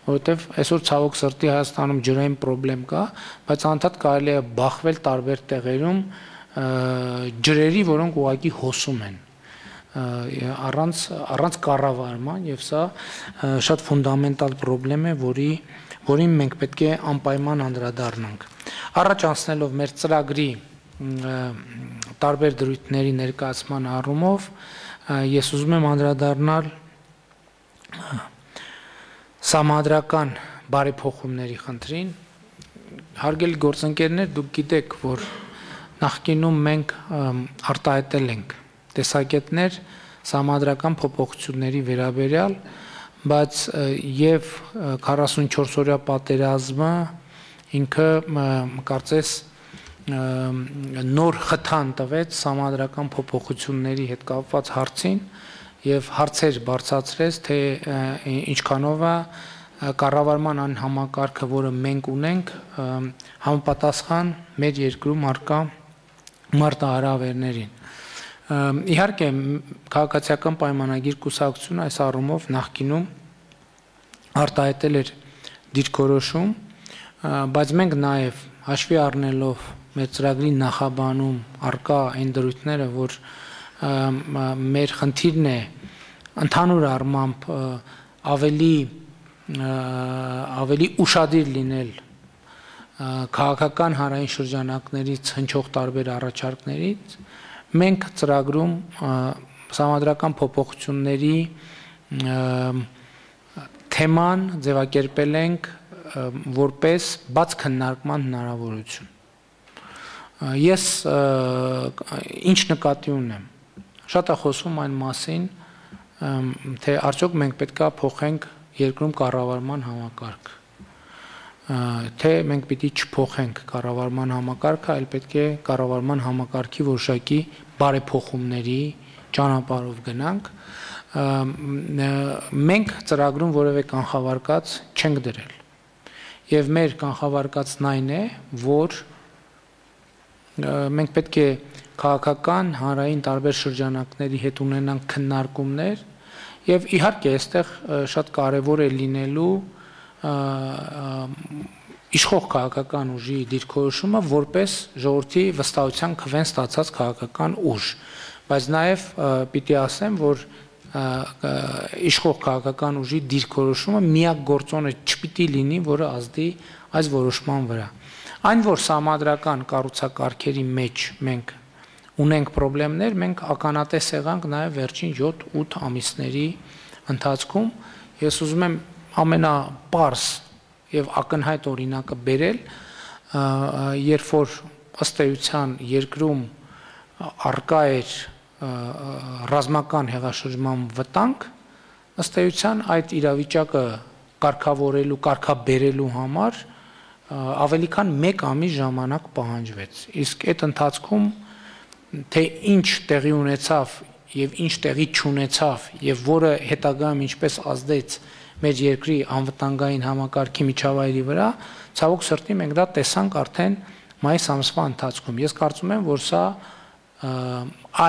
Speaker 1: որովհետեւ այսօր ցավոք սրտի Հայաստանում ջրային խնդրեմ կա, բայց անդադ կարելի է բախվել տարբեր տեղերում ջրերի, որոնք ուղղակի հոսում են առանց առանց կառավարման եւ սա շատ ֆունդամենտալ խնդրեմ է, որի որին մենք պետք է անպայման անդրադառնանք։ Առաջ անցնելով մեր ծրագրի տարբեր դրույթների ներկայացման առումով ես ուզում եմ անդրադառնալ համադրական բարեփոխումների խնդրին։ Հարգելի գործընկերներ, դուք գիտեք, որ նախկինում մենք արտահայտել ենք տեսակետներ համադրական փոփոխությունների վերաբերյալ, բայց եւ քառասունչորս օրյա պատերազմը ինքը կարծես նոր խթան տվեց համադրական փոփոխությունների հետ կապված հարցին եւ հարցեր բարձրացրեց, թե ինչքանով է կառավարման այն համակարգը, որը մենք ունենք, համապատասխան մեր երկրում արկա մարտահրավերներին։ Իհարկե, քաղաքացիական պայմանագիր կուսակցությունը այս առումով նախկինում արտահայտել էր դիրքորոշում, բայց մենք նաև հաշվի առնելով մեր ծրագրի նախաբանում արկա այն դրույթները, որ մեր խնդիրն է ընդհանուր առմամբ ավելի ավելի ուշադիր լինել քաղաքական հանրային շրջանակներից հնչող տարբեր առաջարկներից, մենք ծրագրում համադրական փոփոխությունների թեման ձևակերպել ենք որպես բաց քննարկման հնարավորություն։ Ես ինչ նկատի ունեմ, շատ է խոսվում այն մասին, թե արդյոք մենք պետք է փոխենք երկրում կառավարման համակարգ, թե մենք պիտի չփոխենք կառավարման համակարգը, այլ պետք է կառավարման համակարգի որոշակի բարեփոխումների ճանապարհով գնանք։ Մենք ծրագրում որևէ կանխավարկած չենք դրել։ Եվ մեր կանխավարկածն այն է, որ մենք պետք է քաղաքական, հանրային տարբեր շրջանակների հետ ունենանք քննարկումներ եւ իհարկե այստեղ շատ կարեւոր է լինելու իշխող քաղաքական ուժի դիրքորոշումը որպես ժողովրդի վստահության քվեն ստացած քաղաքական ուժ, բայց նաեւ պիտի ասեմ, որ իշխող քաղաքական ուժի դիրքորոշումը միակ գործոնը չպիտի լինի, որը ազդի այս որոշման վրա։ Այն որ համադրական կառուցակարգերի մեջ մենք ունենք խնդիրներ, մենք ականատես եղանք նաև վերջին յոթ-ութ ամիսների ընթացքում։ Ես ուզում եմ ամենապարզ եւ ակնհայտ օրինակը բերել, երբ որ ըստ էության երկրում արկա էր ռազմական հեղաշրջման վտանգ, ըստ էության այդ իրավիճակը կարգավորելու, կարգաբերելու համար ավելի քան մեկ ամիս ժամանակ պահանջվեց։ Իսկ այդ ընթացքում թե ինչ տեղի ունեցավ եւ ինչ տեղի չունեցավ եւ որը հետագայում ինչպես ազդեց մեր երկրի անվտանգային համակարգի միջավայրի վրա, ցավոք սրտի մենք դա տեսանք արդեն մայիս ամսվա ընթացքում։ Ես կարծում եմ, որ սա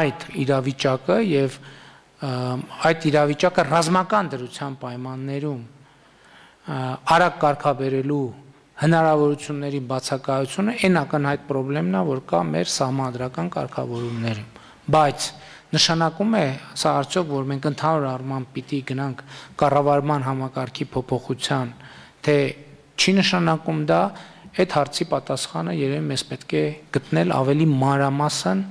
Speaker 1: այդ իրավիճակը եւ այդ իրավիճակը ռազմական դրության պայմաններում արագ կարգաբերելու հնարավորությունների բացակայությունը այն ակնհայտ խնդիրն է, որ կա մեր սահմանադրական կարգավորումներում։ Բայց նշանակում է սա արդյոք, որ մենք ընդհանուր առմամբ պիտի գնանք կառավարման համակարգի փոփոխության, թե չի նշանակում դա, այդ հարցի պատասխանը երևի մեզ պետք է գտնել ավելի մանրամասն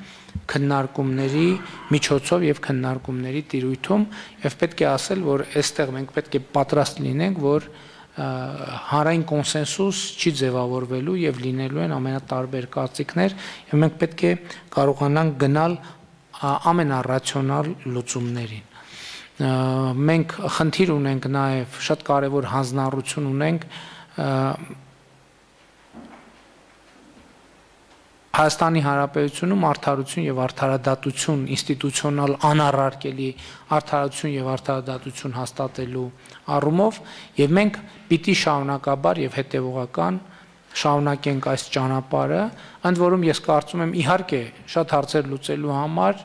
Speaker 1: քննարկումների միջոցով եւ քննարկումների տիրույթում եւ պետք է ասել, որ այստեղ մենք պետք է պատրաստ լինենք, որ հանրային կոնսենսուս չի ձևավորվելու եւ լինելու են ամենատարբեր կարծիքներ եւ մենք պետք է կարողանանք գնալ ամենառացիոնալ լուծումներին։ Մենք խնդիր ունենք նաեւ շատ կարեւոր հանձնառություն ունենք Հայաստանի Հանրապետությունում արդարություն եւ արդարադատություն ինստիտուցիոնալ անառարկելի արդարություն եւ արդարադատություն հաստատելու առումով եւ մենք պիտի շարունակաբար եւ հետեւողական շարունակենք այս ճանապարհը, ընդ որում ես կարծում եմ իհարկե շատ հարցեր լուծելու համար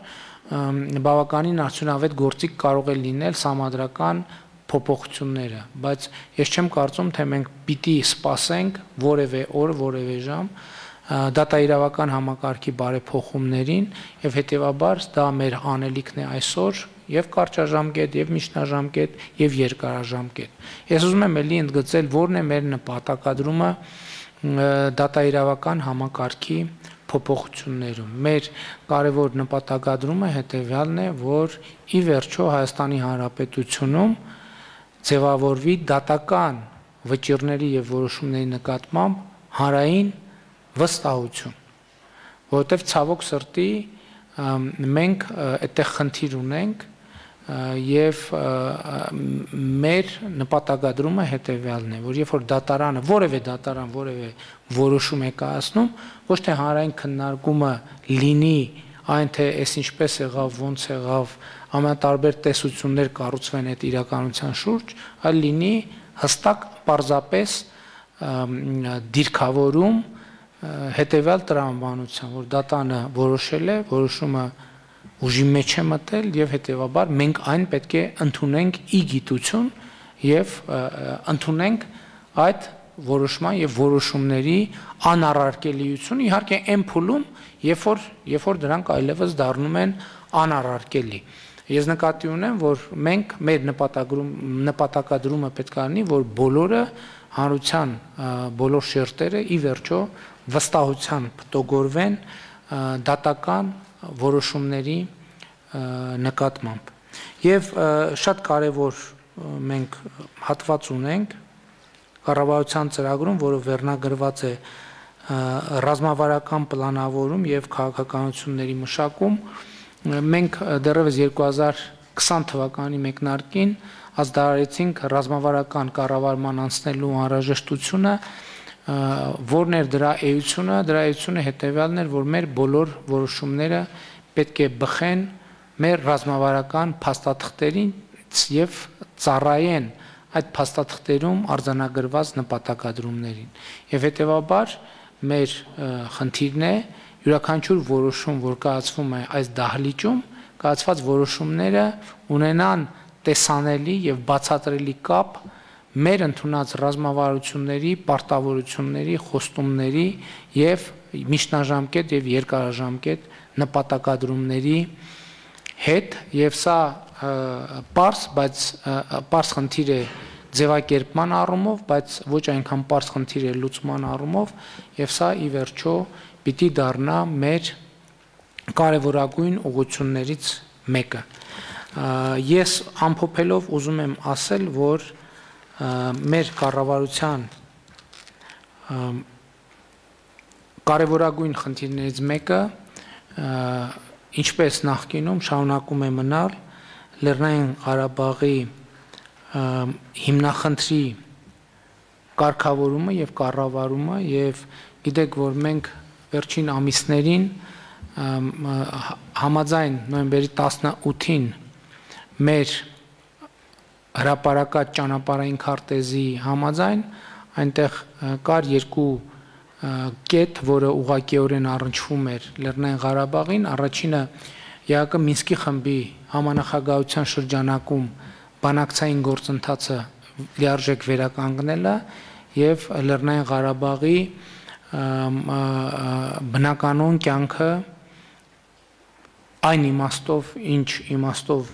Speaker 1: բավականին արդյունավետ գործիք կարող է լինել համադրական փոփոխությունները, բայց ես չեմ կարծում, թե մենք պիտի սպասենք որևէ օր, որևէ ժամ դատաիրավական համակարգի բարեփոխումներին եւ հետեւաբար դա մեր անելիքն է այսօր եւ կարճաժամկետ եւ միջնաժամկետ եւ երկարաժամկետ։ Ես ուզում եմ ելի ընդգծել, որն է մեր նպատակադրումը դատաիրավական համակարգի փոփոխություններում։ Մեր կարևոր նպատակադրումը հետեւյալն է, որ ի վերջո Հայաստանի Հանրապետությունում ձևավորվի դատական վճիռների եւ որոշումների նկատմամբ հանրային վստահություն, որովհետև ցավոք սրտի մենք այդտեղ խնդիր ունենք եւ մեր նպատակադրումը հետեւյալն է, որ երբ որ դատարանը, որևէ դատարան, որևէ որոշում է կայացնում, ոչ թե հանրային քննարկումը լինի այն թե այս ինչպես եղավ, ոնց եղավ, ամենատարբեր տեսություններ կառուցվեն այդ իրականության շուրջ, այլ լինի հստակ պարզապես դիրքավորում հետևյալ տրամաբանության, որ դատանը որոշել է, որոշումը ուժի մեջ է մտել եւ հետեւաբար մենք այն պետք է ընդունենք ի գիտություն եւ ընդունենք այդ որոշման եւ որոշումների անառարկելիությունը, իհարկե այն փուլում, երբ որ երբ որ դրանք այլևս դառնում են անառարկելի։ Ես նկատի ունեմ, որ մենք մեր նպատակադրումը պետք է լինի, որ բոլորը հանրության բոլոր շերտերը ի վերջո վստահությամբ տոգորվեն դատական որոշումների նկատմամբ։ Եվ շատ կարևոր մենք հատված ունենք կառավարության ծրագրում, որը վերնագրված է ռազմավարական պլանավորում եւ քաղաքականությունների մշակում, մենք դեռևս երկու հազար քսան թվականի մեկնարկին ազդարարեցինք ռազմավարական կառավարման անցնելու անհրաժեշտությունը, որն էր դրա էությունը, դրա էությունը հետևյալն էր, որ մեր բոլոր որոշումները պետք է բխեն մեր ռազմավարական փաստաթղթերին եւ ծառայեն այդ փաստաթղթերում արձանագրված նպատակադրումներին։ Եվ հետեւաբար մեր խնդիրն է յուրաքանչյուր որոշում, որ կայացվում է այս դահլիճում, կայացված որոշումները ունենան տեսանելի եւ բացատրելի կապ մեր ընդունած ռազմավարությունների, պարտավորությունների, խոստումների եւ միջնաժամկետ եւ երկարաժամկետ նպատակադրումների հետ եւ սա պարզ, բայց պարզ խնդիր է ձևակերպման առումով, բայց ոչ այնքան պարզ խնդիր է լուծման առումով, եւ սա ի վերջո պիտի դառնա մեր կարևորագույն ուղղություններից մեկը։ Ես ամփոփելով ուզում եմ ասել, որ մեր կառավարության կարևորագույն խնդիրներից մեկը, ինչպես նախկինում շարունակում է մնալ Լեռնային Ղարաբաղի հիմնախնդրի կարգավորումը եւ կառավարումը, եւ գիտեք, որ մենք վերջին ամիսներին համաձայն նոյեմբերի տասնութին մեր հրապարակած ճանապարհային քարտեզի համաձայն այնտեղ կար երկու կետ, որը ուղղակիորեն առնչվում էր Լեռնային Ղարաբաղին, առաջինը ԵԱԿ Մինսկի խմբի համանախագահության շրջանակում բանակցային գործընթացը լիարժեք վերականգնելը եւ Լեռնային Ղարաբաղի բնականոն կյանքը այն իմաստով, ինչ իմաստով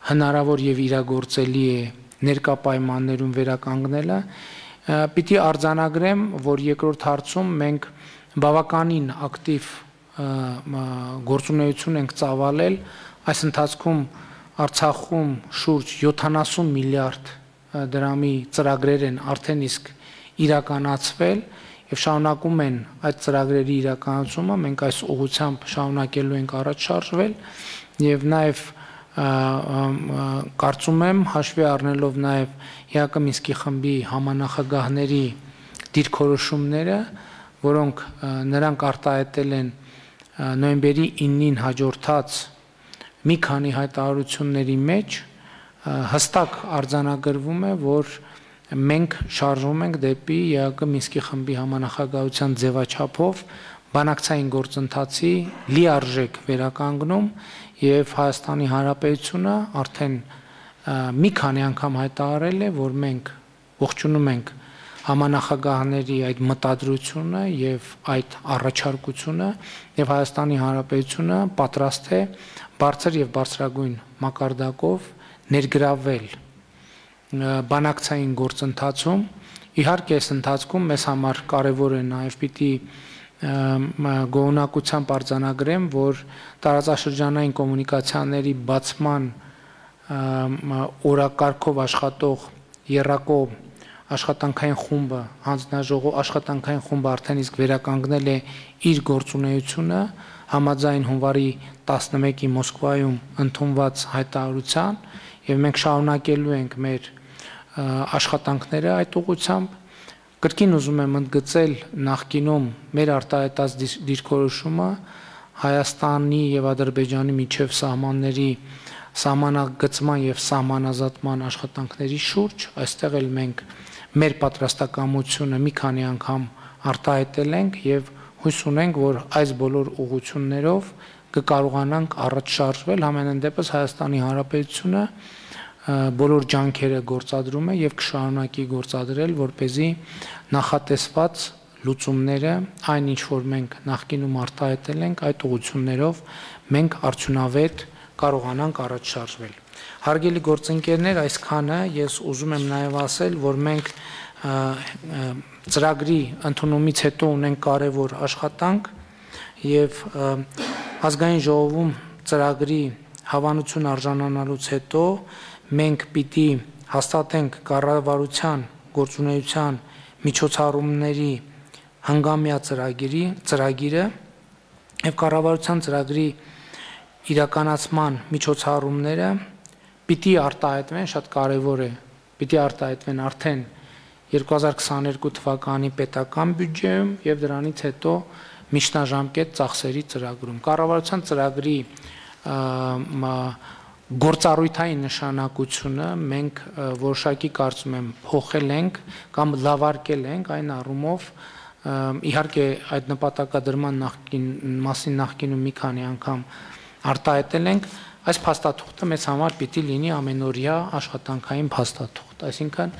Speaker 1: հնարավոր եւ իրագործելի է ներկա պայմաններում վերականգնելը, պիտի արձանագրեմ, որ երկրորդ հարցում մենք բավականին ակտիվ գործունեություն ենք ծավալել, այս ընթացքում Արցախում շուրջ յոթանասուն միլիարդ դրամի ծրագրեր են արդեն իսկ իրականացվել եւ շարունակում են այդ ծրագրերի իրականացումը, մենք այս ուղղությամբ շարունակելու ենք առաջ շարժվել եւ նաեւ կարծում եմ հաշվի առնելով նաեւ ԵԱԿ Մինսկի խմբի համանախագահների դիրքորոշումները, որոնք նրանք արտահայտել են նոյեմբերի իննին հաջորդած մի քանի հայտարարությունների մեջ, հստակ արձանագրվում է, որ մենք շարժվում ենք դեպի ԵԱԿ Մինսկի խմբի համանախագահության ձևաչափով բանակցային գործընթացի լիարժեք վերականգնում եւ Հայաստանի Հանրապետությունը արդեն մի քանի անգամ հայտարարել է, որ մենք ողջունում ենք համանախագահների այդ մտադրությունը եւ այդ առաջարկությունը եւ Հայաստանի Հանրապետությունը պատրաստ է բարձր եւ բարձրագույն մակարդակով ներգրավել բանակցային գործընթացում։ Իհարկե, այս ընթացքում մեզ համար կարևոր է նաեւ պիտի գոհունակությամբ արձանագրեմ, որ տարածաշրջանային կոմունիկացիաների բացման օրակարգով աշխատող եռակո աշխատանքային խումբը, հանձնաժողով աշխատանքային խումբը արդեն իսկ վերականգնել է իր գործունեությունը համաձայն հունվարի տասնմեկի Մոսկվայում ընդունված հայտարարության եւ մենք շարունակելու ենք մեր աշխատանքները այդ ուղղությամբ։ Կրկին ուզում եմ ընդգծել նախկինում մեր արտահայտած դիրքորոշումը Հայաստանի եւ Ադրբեջանի միջև սահմանների սահմանագծման եւ սահմանազատման աշխատանքների շուրջ, այստեղ էլ մենք մեր պատրաստակամությունը մի քանի անգամ արտահայտել ենք եւ հույս ունենք, որ այս բոլոր ուղղություններով կկարողանանք առաջ շարժվել, համենայն դեպս Հայաստանի Հանրապետությունը բոլոր ջանքերը գործադրում է եւ կշարունակի գործադրել, որպեսզի նախատեսված լուծումները, այն ինչ որ մենք նախկինում արտահայտել ենք, այդ ուղղություններով մենք արդյունավետ կարողանանք առաջ շարժվել։ Հարգելի գործընկերներ, այսքանը ես ուզում եմ նաեւ ասել, որ մենք ծրագրի ընդունումից հետո ունենք կարևոր աշխատանք եւ ազգային ժողովում ծրագրի հավանություն արժանանալուց հետո մենք պիտի հաստատենք կառավարության գործունեության միջոցառումների հանգամյա ծրագիրի ծրագիրը եւ կառավարության ծրագրի իրականացման միջոցառումները պիտի արտահայտվեն, շատ կարեւոր է, պիտի արտահայտվեն արդեն երկու հազար քսաներկու թվականի պետական բյուջեում եւ դրանից հետո միջնաժամկետ ծախսերի ծրագրում։ Կառավարության ծրագրի գործառույթային նշանակությունը մենք որոշակի կարծում եմ փոխել ենք կամ լավարկել ենք այն առումով, իհարկե այդ նպատակադրման նախկին մասին նախկինում մի քանի անգամ արտահայտել ենք, այս փաստաթուղթը մեզ համար պիտի լինի ամենօրյա աշխատանքային փաստաթուղթ, այսինքն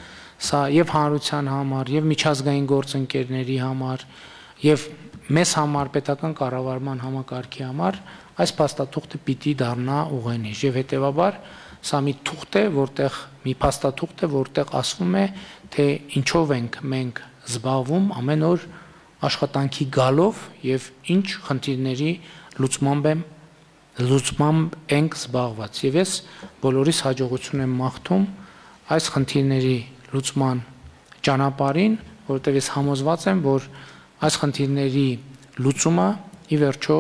Speaker 1: սա եւ հանրության համար, եւ միջազգային գործընկերների համար, եւ մեզ համար պետական կառավարման համակարգի համար այս փաստաթուղթը պիտի դառնա ուղենիշ եւ հետեւաբար Սա մի թուղթ է, որտեղ մի փաստաթուղթ է, որտեղ ասվում է, թե ինչով ենք մենք զբաղվում ամեն օր աշխատանքի գալով եւ ինչ խնդիրների լուծմամբ եմ լուծմամբ ենք զբաղված։ Եվ ես բոլորիս հաջողություն եմ մաղթում այս խնդիրների լուծման ճանապարհին, որովհետեւ ես համոզված եմ, որ այս խնդիրների լուծումը ի վերջո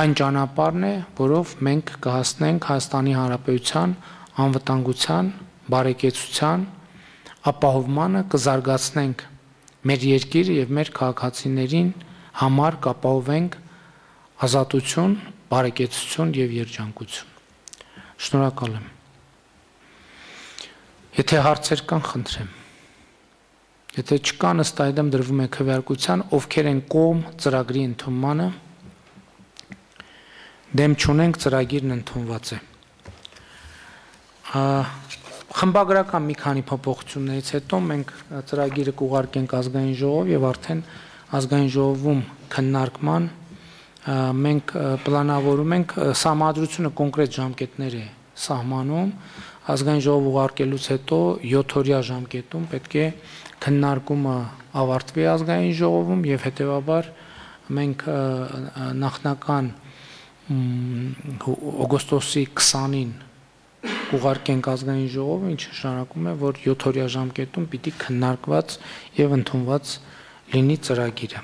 Speaker 1: այն ճանապարհն է, որով մենք կհասնենք Հայաստանի Հանրապետության անվտանգության, բարեկեցության, ապահովմանը, կզարգացնենք մեր երկիրը եւ մեր քաղաքացիներին համար կապահովենք ազատություն, բարեկեցություն եւ երջանկություն։ Շնորհակալ եմ։ Եթե հարցեր կան, խնդրեմ։ Եթե չկան, ըստ այդմ դրվում է քվեարկության, ովքեր են կողմ ծրագրի ընդունմանը, դեմ չունենք, ծրագիրն ընդունված է։ Խմբագրական մի քանի փոփոխություններից հետո մենք ծրագիրը կուղարկենք ազգային ժողով եւ արդեն ազգային ժողովում քննարկման մենք պլանավորում ենք համադրությունը կոնկրետ ժամկետներ է սահմանում ազգային ժողով ուղարկելուց հետո յոթ օրյա ժամկետում պետք է քննարկումը ավարտվի ազգային ժողովում եւ հետեւաբար մենք նախնական օգոստոսի քսանին ուղարկենք ազգային ժողովը, ինչը նշանակում է, որ յոթ օրյա ժամկետում պիտի քննարկված եւ ընդունված լինի ծրագիրը։